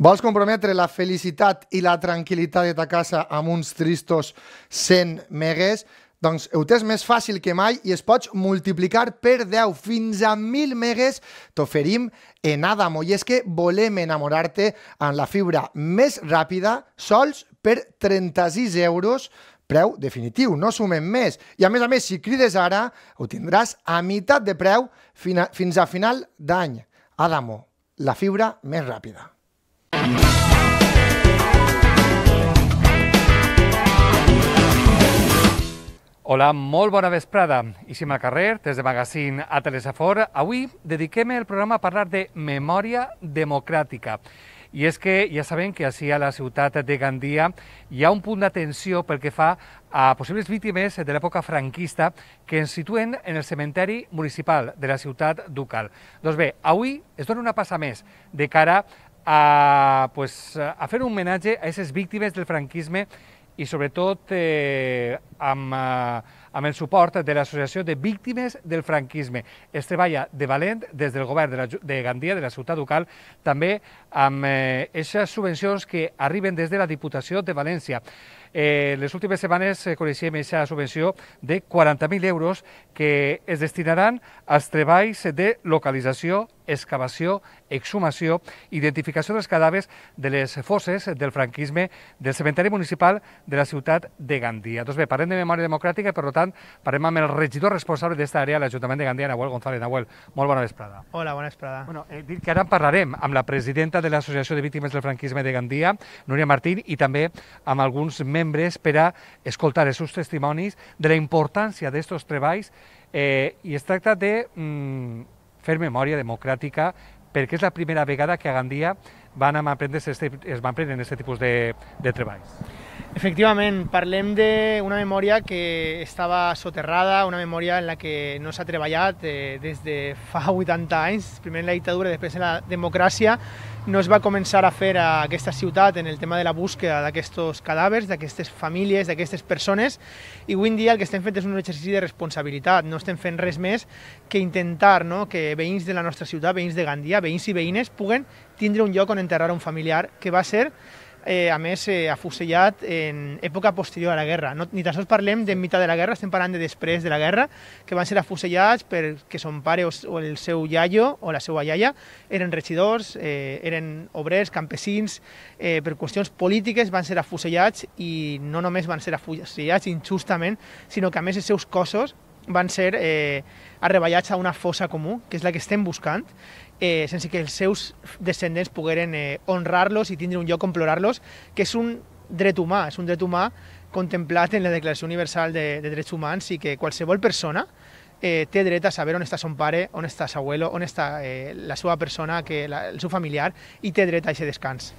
Vols comprometre la felicitat i la tranquil·litat de ta casa amb uns tristos 100 megues? Doncs ho tens més fàcil que mai i es pots multiplicar per 10 fins a 1.000 megues t'oferim en Adamo. I és que volem enamorar-te amb la fibra més ràpida sols per 36 euros, preu definitiu, no sumem més. I a més, si crides ara, ho tindràs a meitat de preu fins a final d'any. Adamo, la fibra més ràpida. Hola, molt bona vesprada. Ixim al carrer, des de Magazine a Telesafor. Avui dediquem el programa a parlar de memòria democràtica. I és que ja sabem que així a la ciutat de Gandia hi ha un punt d'atenció pel que fa a possibles víctimes de l'època franquista que ens situen en el cementeri municipal de la ciutat ducal. Doncs bé, avui es dona una passa més de cara a fer un homenatge a aquestes víctimes del franquisme i sobretot amb el suport de l'Associació de Víctimes del Franquisme. Es treballa de valent des del govern de Gandia, de la ciutat ducal, també amb aquestes subvencions que arriben des de la Diputació de València. Les últimes setmanes coneixem aquesta subvenció de 40.000 euros que es destinaran als treballs de localització, excavació, exhumació, identificació dels cadàvers de les fosses del franquisme del cementeri municipal de la ciutat de Gandia. Doncs bé, parlem de memòria democràtica i, per tant, parlem amb el regidor responsable d'aquesta àrea a l'Ajuntament de Gandia, Nahuel González. Nahuel, molt bona vesprada. Hola, bona vesprada. Bueno, dic que ara en parlarem amb la presidenta de l'Associació de Víctimes del Franquisme de Gandia, Núria Martín, i també amb alguns membres per a escoltar els seus testimonis de la importància d'aquests treballs i es tracta de fer memòria democràtica perquè és la primera vegada que a Gandia es van prendre aquest tipus de treballs. Efectivament, parlem d'una memòria que estava soterrada, una memòria en la que no s'ha treballat des de fa 80 anys, primer en la dictadura i després en la democràcia. No es va començar a fer a aquesta ciutat en el tema de la búsqueda d'aquests cadàvers, d'aquestes famílies, d'aquestes persones, i avui en dia el que estem fent és un exercici de responsabilitat. No estem fent res més que intentar que veïns de la nostra ciutat, veïns de Gandia, veïns i veïnes, puguen tindre un lloc on enterrar un familiar que va ser a més afusellat en època posterior a la guerra. Ni tan sols parlem de mitjà de la guerra, estem parlant de després de la guerra, que van ser afusellats perquè son pare o el seu iaio o la seva iaia eren regidors, eren obrers, campesins, per qüestions polítiques van ser afusellats i no només van ser afusellats injustament, sinó que a més els seus cossos van ser arreballats a una fossa comú, que és la que estem buscant, sense que els seus descendents pogueren honrar-los i tindre un lloc on plorar-los, que és un dret humà contemplat en la Declaració Universal de Drets Humans i que qualsevol persona té dret a saber on està son pare, on està seu abuelo, on està la seva persona, el seu familiar, i té dret a aquest descans.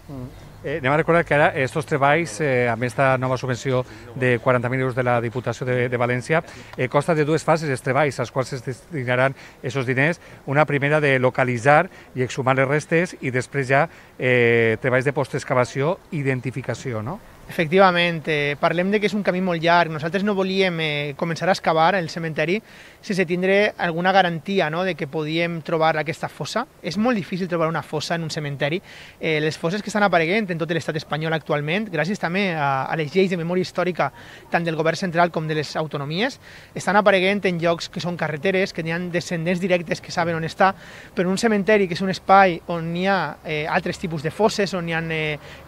Anem a recordar que ara aquests treballs, amb aquesta nova subvenció de 40.000 euros de la Diputació de València, consta de dues fases els treballs, als quals es destinaran aquests diners. Una primera de localitzar i exhumar les restes i després ja treballs de postexcavació i identificació, no? Efectivament, parlem de que és un camí molt llarg. Nosaltres no volíem començar a excavar el cementeri sense tindre alguna garantia de que podíem trobar aquesta fossa. És molt difícil trobar una fossa en un cementeri. Les fosses que estan apareguent en tot l'estat espanyol actualment, gràcies també a les lleis de memòria històrica tant del govern central com de les autonomies, estan apareguent en llocs que són carreteres, que n'hi ha descendents directes que saben on està, però en un cementeri que és un espai on hi ha altres tipus de fosses, on hi ha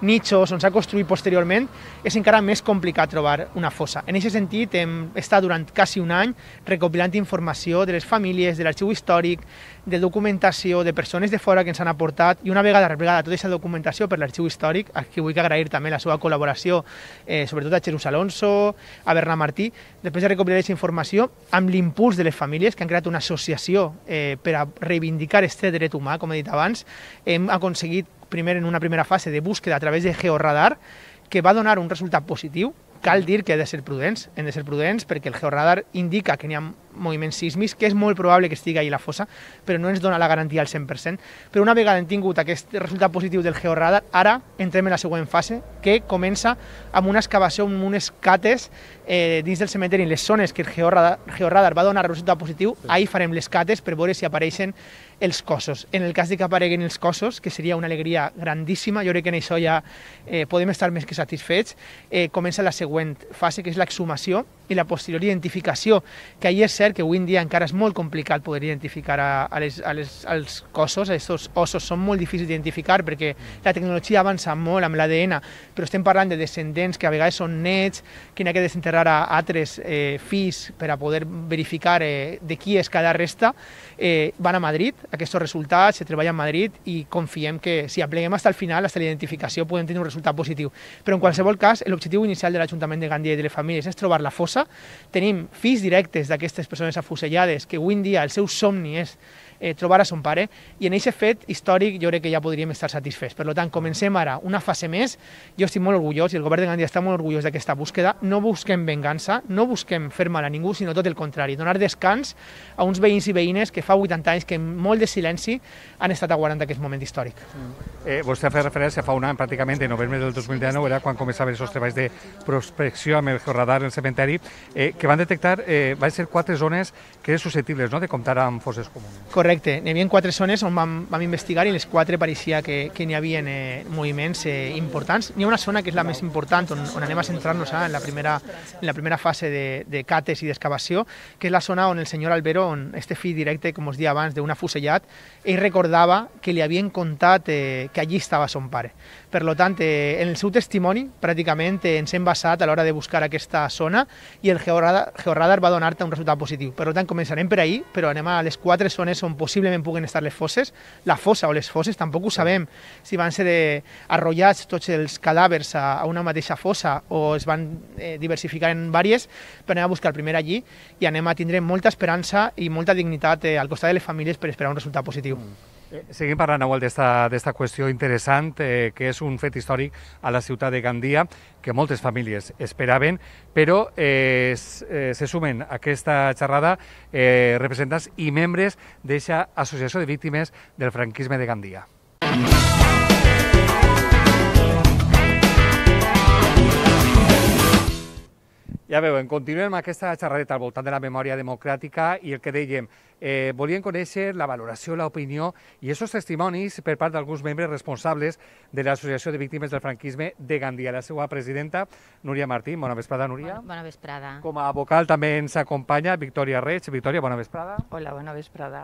nichos, on s'ha construït posteriorment, és encara més complicat trobar una fossa. En aquest sentit, hem estat durant quasi un any recopilant informació de les famílies, de l'arxiu històric, de documentació, de persones de fora que ens han aportat, i una vegada replegada tota aquesta documentació per l'arxiu històric, a qui vull agrair també la seva col·laboració, sobretot a Jesús Alonso, a Bernat Martí, després de recopilar aquesta informació, amb l'impuls de les famílies, que han creat una associació per a reivindicar aquest dret humà, com he dit abans, hem aconseguit primer en una primera fase de búsqueda a través de georradar, que va donar un resultat positiu. Cal dir que hem de ser prudents perquè el georradar indica que n'hi ha moviments sísmics, que és molt probable que estigui ahí la fossa, però no ens dona la garantia al 100%. Però una vegada hem tingut aquest resultat positiu del georadar, ara entrem en la següent fase, que comença amb una excavació, amb unes cates dins del cementeri, en les zones que el georadar va donar resultat positiu, ahí farem les cates per veure si apareixen els cossos. En el cas de que apareguin els cossos, que seria una alegria grandíssima, jo crec que en això ja podem estar més que satisfets, comença la següent fase, que és l'exhumació i la posterior identificació, que ahir és cert que avui en dia encara és molt complicat poder identificar als cossos, aquests ossos són molt difícils d'identificar perquè la tecnologia avança molt amb l'ADN, però estem parlant de descendents que a vegades són nets, que n'hi ha que desenterrar a altres fills per a poder verificar de qui és cada resta, van a Madrid, aquests resultats se treballen a Madrid i confiem que si apleguem fins al final, fins a la identificació, podem tenir un resultat positiu. Però en qualsevol cas, l'objectiu inicial de l'Ajuntament de Gandia i de les famílies és trobar la fossa. Tenim fills directes d'aquestes persones afusellades que avui en dia el seu somni és trobar a son pare, i en aquest fet històric jo crec que ja podríem estar satisfets. Per tant, comencem ara una fase més. Jo estic molt orgullós i el govern de Gandia està molt orgullós d'aquesta búsqueda. No busquem vengança, no busquem fer mal a ningú, sinó tot el contrari, donar descans a uns veïns i veïnes que fa 80 anys que amb molt de silenci han estat aguardant aquest moment històric. Vostè ha fet referència fa un any, pràcticament, en novembre del 2019, era quan començaven aquests treballs de prospecció amb el georadar en el cementeri, que van detectar, van ser 4 zones que eren susceptibles de comptar amb fosses comunes. Correcte, n'hi havia 4 zones on vam investigar i les 4 pareixia que n'hi havia moviments importants. N'hi ha una zona que és la més important, on anem a centrar-nos en la primera fase de cates i d'excavació, que és la zona on el senyor Albero, on este fill directe, com us dia abans, d'un afusellat, ell recordava que li havien contat que allí estava son pare. Per tant, en el seu testimoni, pràcticament ens hem basat a l'hora de buscar aquesta zona i el georadar va donar-te un resultat positiu. Per tant, començarem per ahir, però anem a les 4 zones on possiblement puguen estar les fosses. La fossa o les fosses tampoc ho sabem si van ser arrollats tots els cadàvers a una mateixa fossa o es van diversificar en diverses, però anem a buscar primer allí i anem a tindre molta esperança i molta dignitat al costat de les famílies per esperar un resultat positiu. Seguim parlant, Nahuel, d'esta qüestió interessant, que és un fet històric a la ciutat de Gandia, que moltes famílies esperaven, però se sumen a aquesta xerrada representants i membres d'aquesta associació de víctimes del franquisme de Gandia. Ja veuen, continuem amb aquesta xerradeta al voltant de la memòria democràtica i el que dèiem, volien conèixer la valoració, l'opinió i aquests testimonis per part d'alguns membres responsables de l'Associació de Víctimes del Franquisme de Gandia. La seva presidenta, Núria Martín. Bona vesprada, Núria. Bona vesprada. Com a vocal també ens acompanya Victòria Reig. Victòria, bona vesprada. Hola, bona vesprada.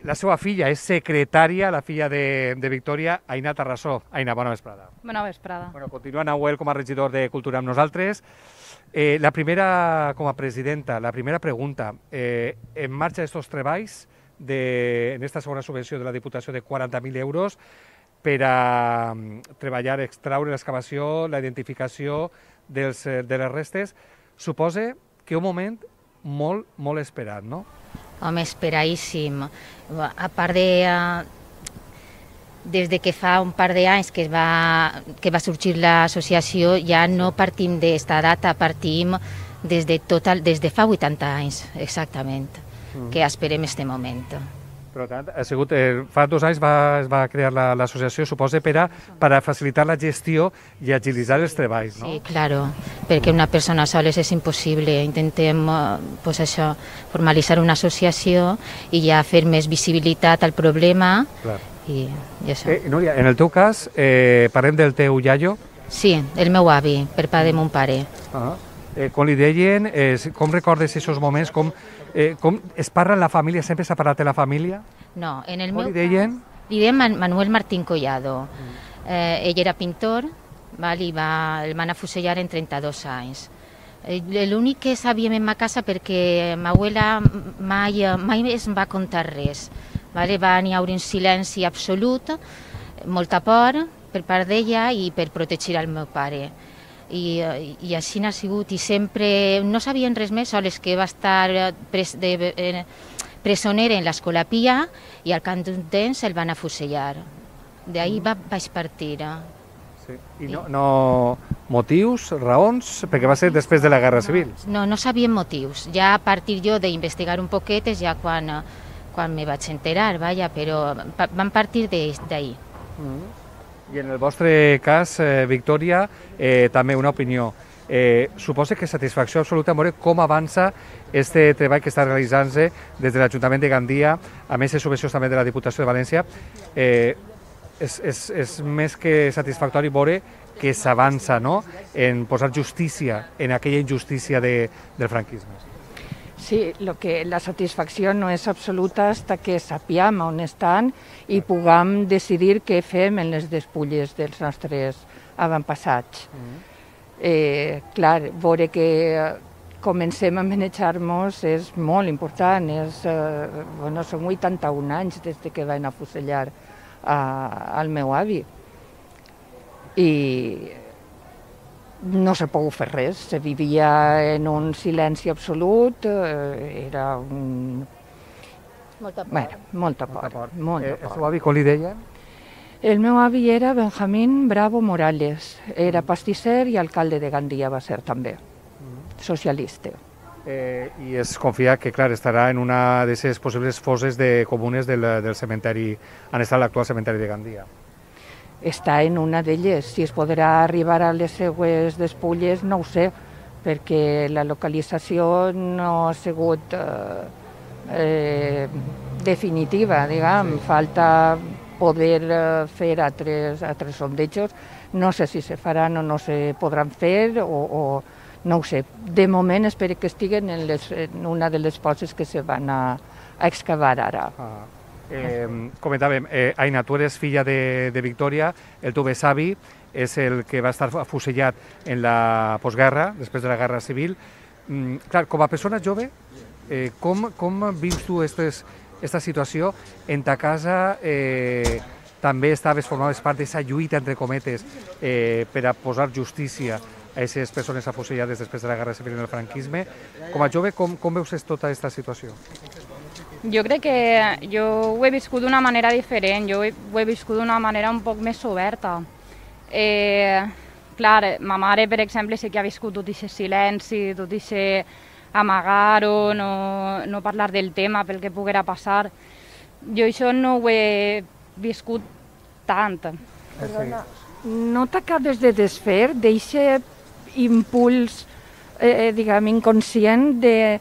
La seva filla és secretària, la filla de Victòria, Aina Tarrasó. Aina, bona vesprada. Bona vesprada. Continua Nahuel com a regidor de Cultura amb nosaltres. La primera, com a presidenta, la primera pregunta, en marxa aquests treballs en aquesta segona subvenció de la Diputació de 40.000 euros per a treballar, extraure l'excavació, la identificació de les restes, suposa que un moment molt, molt esperat, no? Home, esperadíssim. A part des de que fa un par d'anys que va sorgir l'associació, ja no partim d'esta data, partim des de fa 80 anys, exactament, que esperem este moment. Per tant, ha sigut, fa 2 anys es va crear l'associació, suposa, per a facilitar la gestió i agilitzar els treballs, no? Sí, claro, perquè una persona sola és impossible. Intentem, pues això, formalitzar una associació i ja fer més visibilitat al problema. Clar. I això. Núria, en el teu cas, parlem del teu iaio? Sí, el meu avi, per part de mon pare. Com li deien, com recordes aquests moments, com es parla en la família, sempre s'ha parlat de la família? No, en el meu meu cas... Li deien? Li deien Manuel Martín Collado. Ell era pintor, el van afusellar en 32 anys. L'únic que sabíem en ma casa, perquè ma abuela mai es va contar res. Va haver un silenci absolut, molta por per part d'ella i per protegir el meu pare. I així n'ha sigut, i sempre no sabien res més, sols que va estar presoner en l'Escola Pia i al cap d'un temps el van afusellar. D'ahir vaig partir. I no motius, raons, perquè va ser després de la Guerra Civil. No, no sabíem motius. Ja a partir jo d'investigar un poquet és ja quan me vaig enterar, vaja, però van partir d'ahir. I en el vostre cas, Victòria, també una opinió. Suposa que satisfacció absoluta en veure com avança este treball que està realitzant-se des de l'Ajuntament de Gandia, a més de subvencions també de la Diputació de València. És més que satisfactori veure que s'avança, no?, en posar justícia en aquella injustícia del franquisme. Sí, la satisfacció no és absoluta fins que sapiem on estan i puguem decidir què fem en les despulles dels nostres avantpassats. Clar, veure que comencem a manejar-nos és molt important. Són 81 anys des que van afusellar al meu avi. I no s'ha pogut fer res, se vivia en un silenci absolut, era un... Molta por. Bueno, molta por. El seu avi com li deien? El meu avi era Benjamín Bravo Morales, era pastisser i alcalde de Gandia va ser també, socialista. I es confia que, clar, estarà en una de les possibles fosses comunes del cementeri, on està l'actual cementeri de Gandia. Està en una d'elles. Si es podrà arribar a les seues despulles, no ho sé, perquè la localització no ha sigut definitiva, diguem. Falta poder fer altres sondejos. No sé si se faran o no se podran fer, o no ho sé. De moment espero que estiguen en una de les fosses que se van a excavar ara. Comentàvem, Aina, tu eres filla de Victòria, el teu besavi és el que va estar afusellat en la postguerra, després de la Guerra Civil. Clar, com a persona jove, com vius tu esta situació? En ta casa també formaves part d'aquesta lluita, entre cometes, per a posar justícia a aquestes persones afusellades després de la Guerra Civil en el franquisme. Com a jove, com veus tota aquesta situació? Jo crec que jo ho he viscut d'una manera diferent, jo ho he viscut d'una manera un poc més oberta. Clar, ma mare, per exemple, sí que ha viscut tot aquest silenci, tot aquest amagar-ho, no parlar del tema pel que poguera passar. Jo això no ho he viscut tant. Perdona, no t'acabes de desfer d'aquest impuls, diguem, inconscient de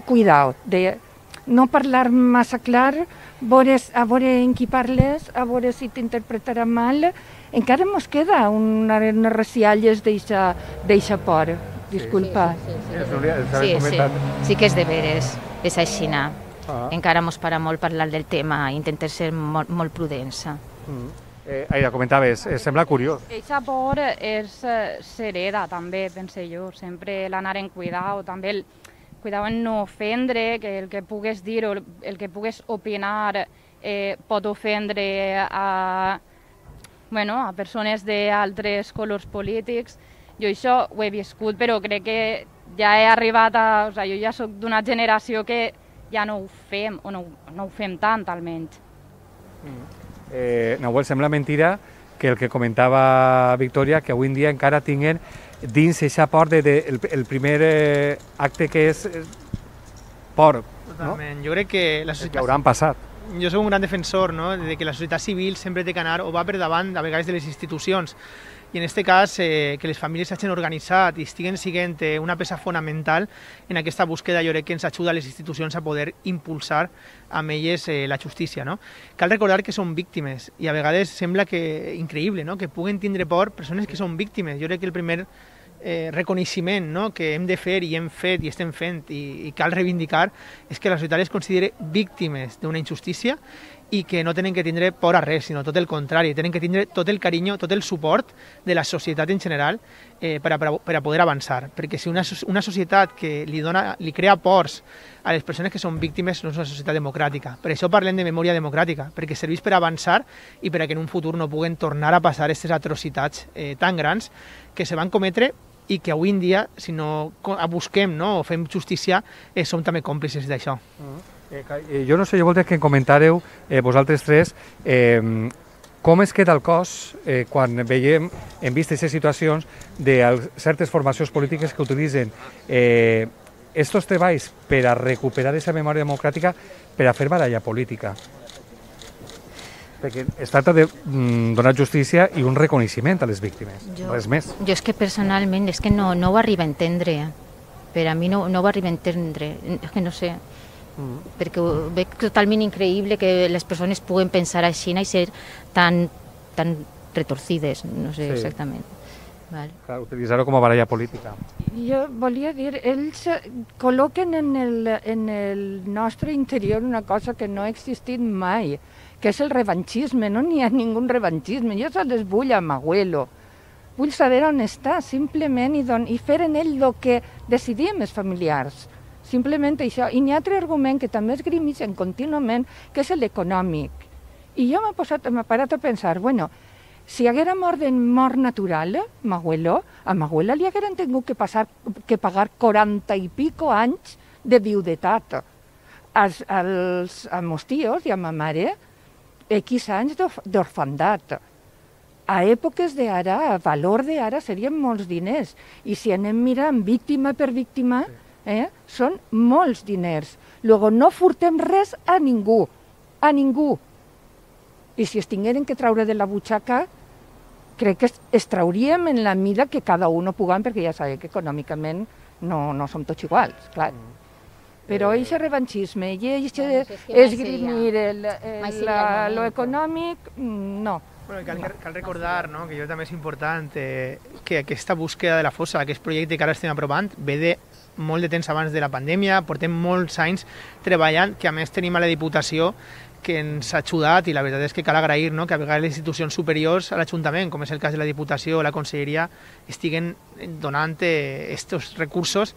cuidao, de no parlar massa clar, a veure en qui parles, a veure si t'interpretarà mal. Encara mos queda unes recialles d'eixa por. Disculpa. Sí que és de veres, és aixina. Encara mos para molt parlar del tema, intentem ser molt prudents. Aida, comentaves, sembla curiós. Eixa por s'hereda també, pense jo, sempre l'anar en cuidao, també el cuidao en no ofendre, que el que pugues dir o el que pugues opinar pot ofendre a persones d'altres colors polítics. Jo això ho he viscut, però crec que ja he arribat a... jo ja soc d'una generació que ja no ho fem, o no ho fem tant, almenys. Nahuel, sembla mentira que el que comentava Victòria, que avui en dia encara tinguen dins aquesta por el primer acte que és por. Totalment. Jo crec que la societat... Que hauran passat. Jo soc un gran defensor de que la societat civil sempre té que anar o va per davant, a vegades, de les institucions. I en aquest cas, que les famílies s'hagin organitzat i estiguen sent una peça fonamental en aquesta búsqueda, jo crec que ens ajuda a les institucions a poder impulsar amb elles la justícia. Cal recordar que són víctimes i a vegades sembla que increïble que puguen tindre por persones que són víctimes. Jo crec que el primer reconeixement que hem de fer i hem fet i estem fent i cal reivindicar és que la societat les consideri víctimes d'una injustícia i que no tenen que tindre por a res, sinó tot el contrari, tenen que tindre tot el carinyo, tot el suport de la societat en general per a poder avançar. Perquè si una societat que li crea pors a les persones que són víctimes no és una societat democràtica. Per això parlem de memòria democràtica, perquè serveix per avançar i per a que en un futur no puguen tornar a passar aquestes atrocitats tan grans que se van cometre i que avui en dia, si no busquem o fem justícia, som també còmplices d'això. Jo no sé, jo voldria que em comentàreu vosaltres tres com es queda el cos quan veiem, hem vist aquestes situacions, de certes formacions polítiques que utilitzen estos treballs per a recuperar aquesta memòria democràtica per a fer baralla política? Perquè es tracta de donar justícia i un reconeixement a les víctimes, res més. Jo és que personalment és que no ho arribo a entendre. Per a mi no ho arribo a entendre, és que no sé. Perquè ho veig totalment increïble que les persones puguen pensar així i ser tan retorcides, no sé exactament. Clar, utilitzar-ho com a baralla política. Jo volia dir, ells col·loquen en el nostre interior una cosa que no ha existit mai, que és el revanchisme. No n'hi ha ningú revanchisme. Jo sols vull a m'abuelo. Vull saber on està, simplement, i fer en ell el que decidim els familiars. Simplement això. I n'hi ha altre argument que també esgrimeixen contínuament, que és l'econòmic. I jo m'he parat a pensar, bueno, si haguera mort de mort natural, a m'abuela li hagueren tingut que pagar 40 i pico anys de viudetat. A meus tios i a ma mare, X anys d'orfandat. A èpoques d'ara, a valor d'ara, serien molts diners. I si anem mirant víctima per víctima, són molts diners. Luego, no furtem res a ningú, I si es tingueren que traure de la butxaca, crec que es trauríem en la mida que cada un puguem, perquè ja sabem que econòmicament no som tots iguals, clar. Però aquest revanchisme i aquest esgrimir lo econòmic, no. Bueno, cal recordar, no?, que jo també és important que aquesta búsqueda de la fossa, aquest projecte que ara estem aprovant, ve de molt de temps abans de la pandèmia, portem molts anys treballant, que a més tenim a la Diputació que ens ha ajudat, i la veritat és que cal agrair, no?, que a vegades les institucions superiors a l'Ajuntament, com és el cas de la Diputació o la Conselleria, estiguen donant aquests recursos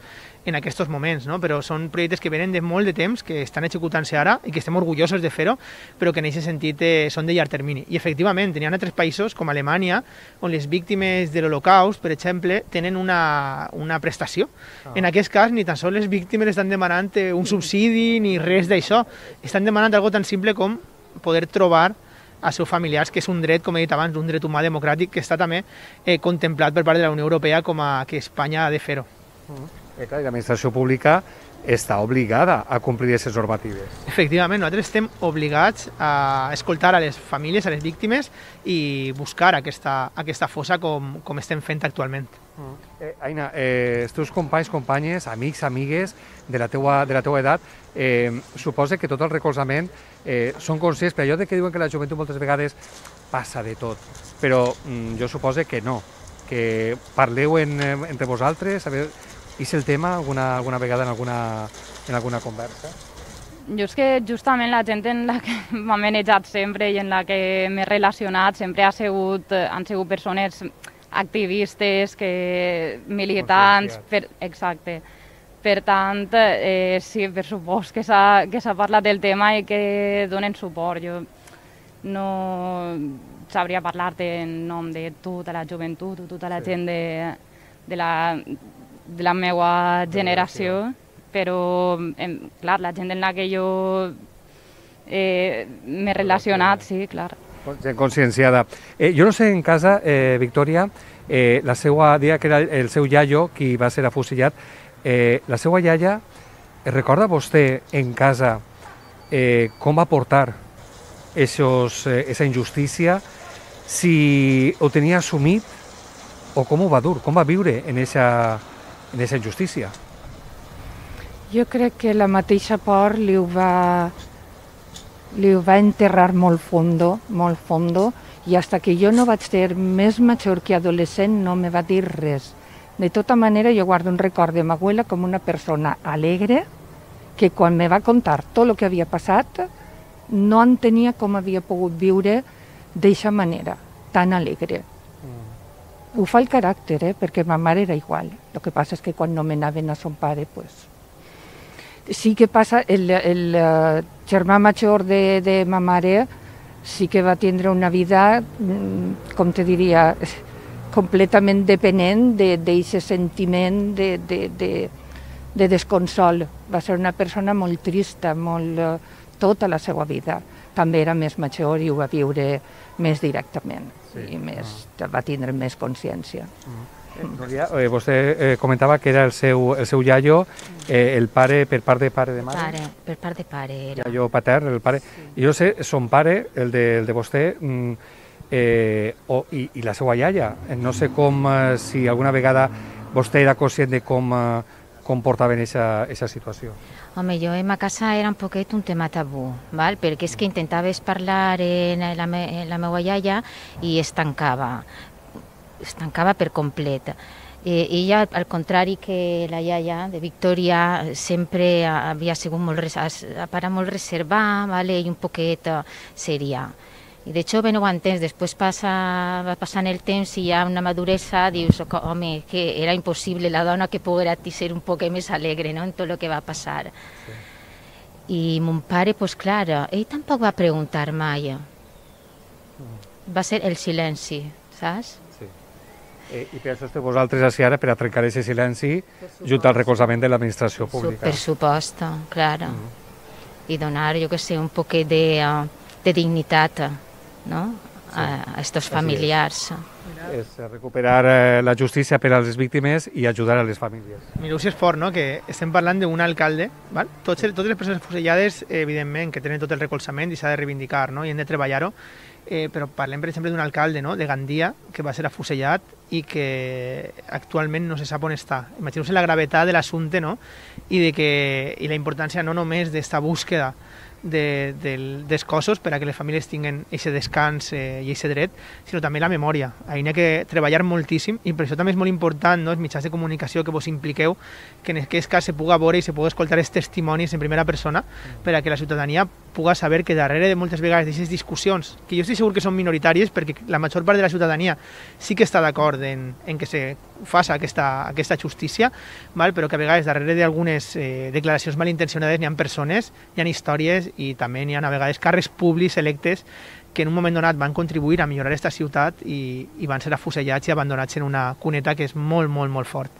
en aquests moments, no? Però són projectes que venen de molt de temps, que estan executant-se ara i que estem orgullosos de fer-ho, però que en aquest sentit són de llarg termini. I efectivament, hi ha altres països, com Alemanya, on les víctimes de l'Holocaust, per exemple, tenen una prestació. En aquest cas, ni tan sols les víctimes estan demanant un subsidi ni res d'això. Estan demanant algo tan simple com poder trobar als seus familiars, que és un dret, com he dit abans, un dret humà democràtic que està també contemplat per part de la Unió Europea com que Espanya ha de fer-ho. Clar, l'administració pública està obligada a complir aquestes normatives. Efectivament, nosaltres estem obligats a escoltar a les famílies, a les víctimes i buscar aquesta fossa com estem fent actualment. Aina, els teus companys, companyes, amics, amigues de la teua edat, suposa que tot el recolzament són conscients, per allò que diuen que la joventut moltes vegades passa de tot, però jo suposo que no, que parleu entre vosaltres, és el tema alguna vegada en alguna conversa? Jo és que justament la gent en la que m'ha manejat sempre i en la que m'he relacionat sempre han sigut persones activistes, militants, exacte. Per tant, sí, per supost que s'ha parlat del tema i que donen suport. Jo no sabria parlar-te en nom de tota la joventut o tota la gent de la meva generació, però, clar, la gent en la que jo m'he relacionat, sí, clar. Gent conscienciada. Jo no sé, en casa, Victòria, la seva, deia que era el seu iaio qui va ser afusellat, la seva iaia, recorda vostè en casa com va portar esa injustícia, si ho tenia assumit o com ho va dur, com va viure en esa injustícia? Jo crec que la mateixa por li ho va enterrar molt fondo, i fins que jo no vaig ser més major que adolescent no me va dir res. De tota manera, jo guardo un record de ma abuela com una persona alegre, que quan me va contar tot el que havia passat, no entenia com havia pogut viure d'aquesta manera, tan alegre. Ho fa el caràcter, perquè ma mare era igual. El que passa és que quan nomenaven a son pare, pues... Sí que passa, el germà major de ma mare sí que va tindre una vida, com te diria, completament dependent d'aquest sentiment de desconsol. Va ser una persona molt trista, tota la seva vida. també era més major i ho va viure més directament i va tindre més consciència. Núria, vostè comentava que era el seu iaio, el pare per part de pare de mare? Per part de pare era. Iaio patern, el pare. I jo sé, son pare, el de vostè, i la seva iaia. No sé com, si alguna vegada vostè era conscient de com portaven aquesta situació. Home, jo en ma casa era un poquet un tema tabú, val? Perquè és que intentaves parlar en la meva iaia i es tancava per complet. Ella, al contrari que la iaia de Victòria, sempre havia sigut molt reservada, vale? I un poquet seria. I de hecho, no ho entens, després va passant el temps i hi ha una maduresa, dius, home, que era impossible la dona que poguera ser un poc més alegre, no?, en tot el que va passar. I mon pare, doncs clar, ell tampoc va preguntar mai. Va ser el silenci, saps? I per això esteu vosaltres així ara, per a trencar aquest silenci, junt al recolzament de l'administració pública. Per supost, clar. I donar, jo que sé, un poquet de dignitat, no?, a estos familiars. És recuperar la justícia per a les víctimes i ajudar a les famílies. Mireu si és fort, no?, que estem parlant d'un alcalde, val? Totes les persones fusellades, evidentment, que tenen tot el recolzament i s'ha de reivindicar, no?, i hem de treballar-ho, però parlem, per exemple, d'un alcalde, no?, de Gandia, que va ser afusellat i que actualment no se sap on està. Imagineu-vos la gravetat de l'assumpte, no?, i la importància no només d'esta búsqueda dels cossos per a que les famílies tinguin aquest descans i aquest dret, sinó també la memòria. Hi ha que treballar moltíssim i per això també és molt important, no?, els mitjans de comunicació que vos impliqueu, que en aquest cas se puga veure i se puga escoltar els testimonis en primera persona per a que la ciutadania puga saber que darrere de moltes vegades d'aquestes discussions, que jo estic segur que són minoritàries perquè la major part de la ciutadania sí que està d'acord en que se faci aquesta justícia, però que a vegades darrere d'algunes declaracions malintencionades n'hi ha persones, hi ha històries i també n'hi ha a vegades càrrecs públics electes que en un moment donat van contribuir a millorar aquesta ciutat i van ser afusellats i abandonats en una cuneta que és molt, molt, molt fort.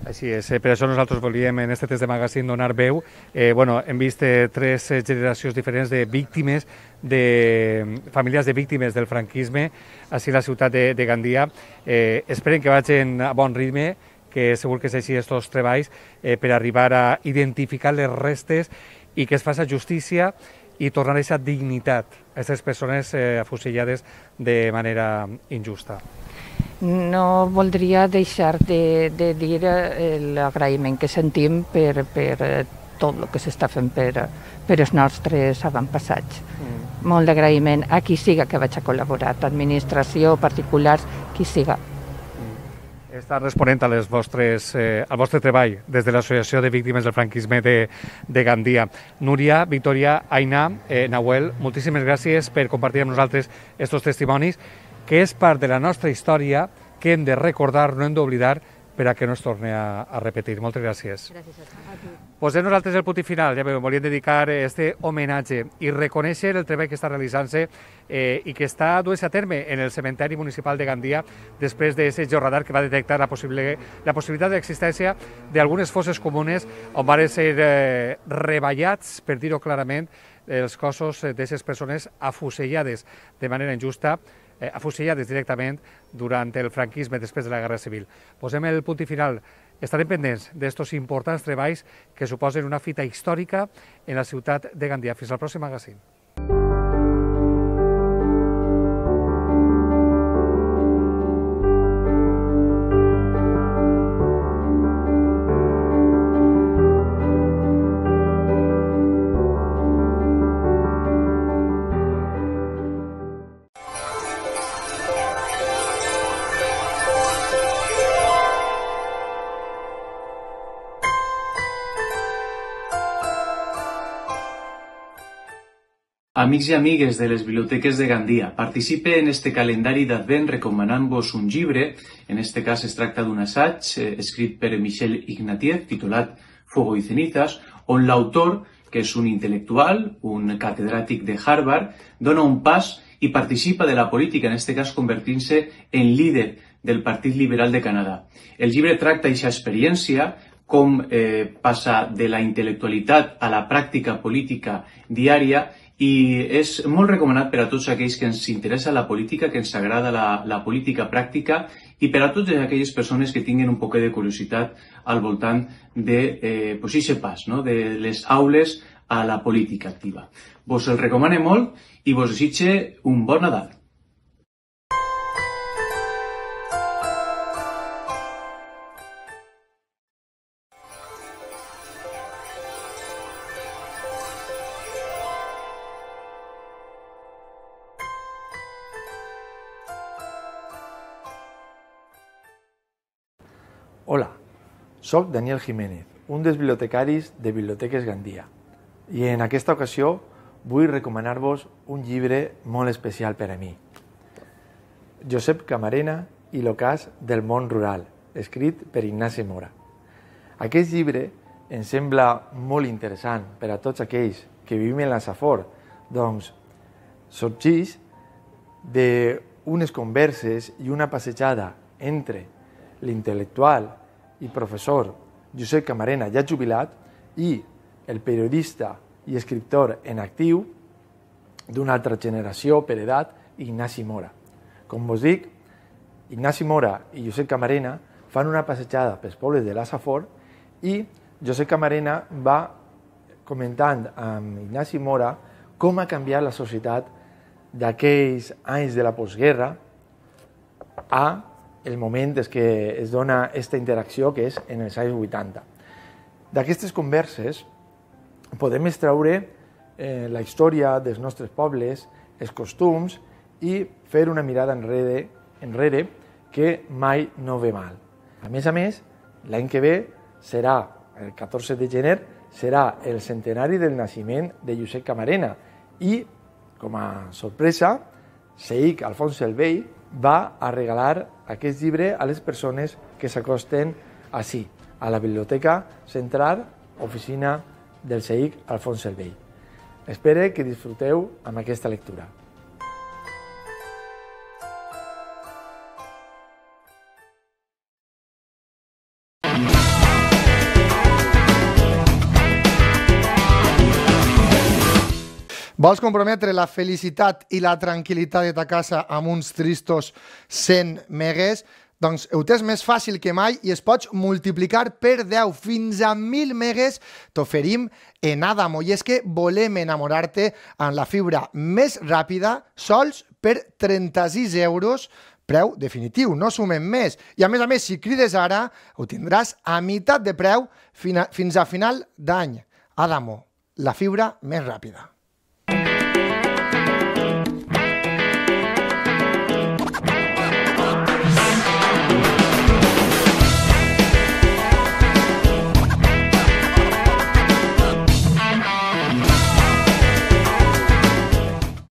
Així és, per això nosaltres volíem en aquest test de magazine donar veu. Hem vist 3 generacions diferents de víctimes, de famílies de víctimes del franquisme, així a la ciutat de Gandia. Esperem que vagin a bon ritme, que segur que és així aquests treballs, per arribar a identificar les restes i que es faci justícia i tornar a aquesta dignitat a aquestes persones afusellades de manera injusta. No voldria deixar de dir l'agraïment que sentim per tot el que s'està fent per els nostres avantpassats. Molt d'agraïment a qui siga que vaig a col·laborar, administració, particulars, qui siga. Està responent al vostre treball des de l'Associació de Víctimes del Franquisme de Gandia. Núria, Victòria, Aina, Nahuel, moltíssimes gràcies per compartir amb nosaltres aquests testimonis, que és part de la nostra història que hem de recordar, no hem d'oblidar, per a que no es torni a repetir. Moltes gràcies. Gràcies a tu. Posem nosaltres el punt i final. Ja volíem dedicar aquest homenatge i reconèixer el treball que està realitzant-se i que està duent-se a terme en el cementeri municipal de Gandia després d'aquest georradar que va detectar la possibilitat d'existència d'algunes fosses comunes on van ser reballats, per dir-ho clarament, els cossos d'aquestes persones afusellades de manera injusta, afusellades directament durant el franquisme després de la Guerra Civil. Posem el punt i final. Estarem pendents d'estos importants treballs que suposen una fita històrica en la ciutat de Gandia. Fins al pròxim magazín. Amics i amigues de les biblioteques de Gandia, participe en este calendari d'Advent recomanant-vos un llibre, en este cas es tracta d'un assaig escrit per Michel Ignatieff, titulat Fuego y cenizas, on l'autor, que és un intel·lectual, un catedràtic de Harvard, dona un pas i participa de la política, en este cas convertint-se en líder del Partit Liberal de Canadà. El llibre tracta aquesta experiència, com passa de la intel·lectualitat a la pràctica política diària i és molt recomanat per a tots aquells que ens interessa la política, que ens agrada la política pràctica i per a totes aquelles persones que tinguin un poc de curiositat al voltant de aquest pas, de les aules a la política activa. Vos el recomane molt i vos desitge un bon Nadal. Hola, soc Daniel Jiménez, un dels bibliotecaris de Biblioteques Gandia, i en aquesta ocasió vull recomanar-vos un llibre molt especial per a mi. Josep Camarena i l'ocàs del món rural, escrit per Ignasi Mora. Aquest llibre em sembla molt interessant per a tots aquells que vivim en la Safor, doncs sorgeix d'unes converses i una passejada entre l'intel·lectual i professor Josep Camarena, ja jubilat, i el periodista i escriptor en actiu d'una altra generació per edat, Ignasi Mora. Com vos dic, Ignasi Mora i Josep Camarena fan una passejada pels pobles de la Safor i Josep Camarena va comentant amb Ignasi Mora com ha canviat la societat d'aquells anys de la postguerra a el moment és que es dona aquesta interacció que és en els anys 80. D'aquestes converses podem extraure la història dels nostres pobles, els costums i fer una mirada enrere que mai no ve mal. A més, l'any que ve serà, el 14 de gener, serà el centenari del naixement de Josep Camarena i, com a sorpresa, Seic Alfons el Vell va a regalar aquest llibre a les persones que s'acosten ací, a la Biblioteca Central, oficina del Seic Alfons el Vell. Espero que disfruteu amb aquesta lectura. Vols comprometre la felicitat i la tranquil·litat de ta casa amb uns tristos 100 megues? Doncs ho tens més fàcil que mai i es pots multiplicar per 10 fins a 1.000 megues t'oferim en Adamo. I és que volem enamorar-te amb la fibra més ràpida sols per 36 euros, preu definitiu, no sumem més. I a més, si crides ara, ho tindràs a meitat de preu fins a final d'any. Adamo, la fibra més ràpida.